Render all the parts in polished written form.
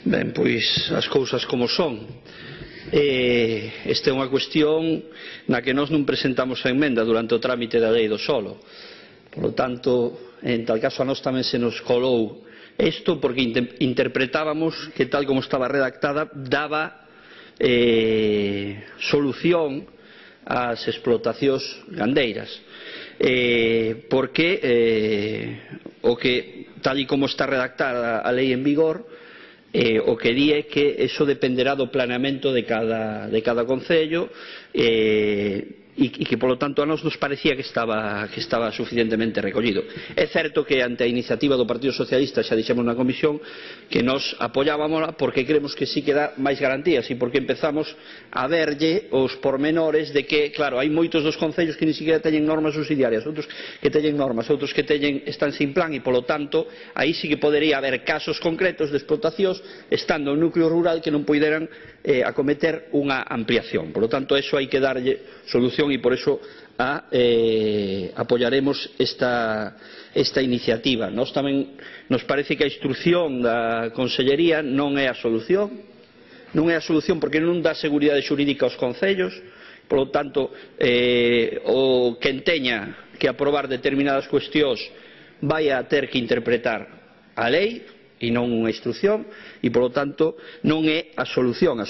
Ben, pois as cousas como son. Esta é unha cuestión na que nós non presentamos a emenda durante o trámite da lei do solo. Por lo tanto, en tal caso a nós tamén se nos colou isto porque interpretábamos que tal como estaba redactada daba solución ás explotacións gandeiras. Porque o que tal e como está redactada a lei en vigor, o que di é que eso dependerá do planeamento de cada concello e que, polo tanto, a nós nos parecía que estaba suficientemente recollido. É certo que ante a iniciativa do Partido Socialista xa dixemos na comisión que nós apoiábamola porque creemos que sí que dá máis garantías e porque empezamos a verlle os pormenores de que, claro, hai moitos dos concellos que ni siquiera teñen normas subsidiarias, outros que teñen normas, outros que están sin plan e, polo tanto, aí sí que podería haber casos concretos de explotacións estando en núcleo rural que non poideran acometer unha ampliación. Por lo tanto, eso hai que darlle solución e por eso apoiaremos esta iniciativa. Nós tamén nos parece que a instrucción da Consellería non é a solución, porque non dá seguridade xurídica aos concellos. Por lo tanto, o quen teña que aprobar determinadas cuestións vai a ter que interpretar a lei e non unha instrucción e, polo tanto, non é a solución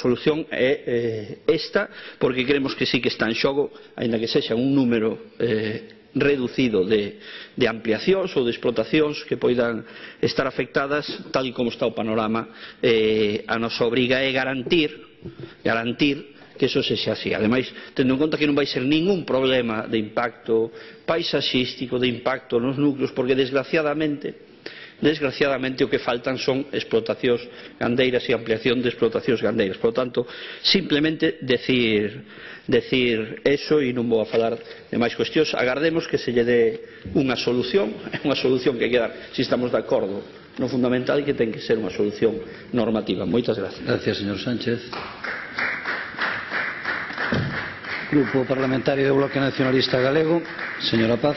é esta, porque creemos que sí que está en xogo, aínda que sexa un número reducido de ampliacións ou de explotacións que poidan estar afectadas, tal e como está o panorama. A nosa obriga é garantir que eso sexa así. Ademais, tendo en conta que non vai ser ningún problema de impacto paisaxístico, de impacto nos núcleos, porque desgraciadamente o que faltan son explotacións gandeiras e ampliación de explotacións gandeiras. Por lo tanto, simplemente decir eso e non vou a falar de máis cuestións. Agardemos que se lle dé unha solución, é unha solución que hai que dar, se estamos de acordo no fundamental, e que ten que ser unha solución normativa. Moitas gracias. Gracias, señor Sánchez. Grupo Parlamentario do Bloque Nacionalista Galego, señora Paz.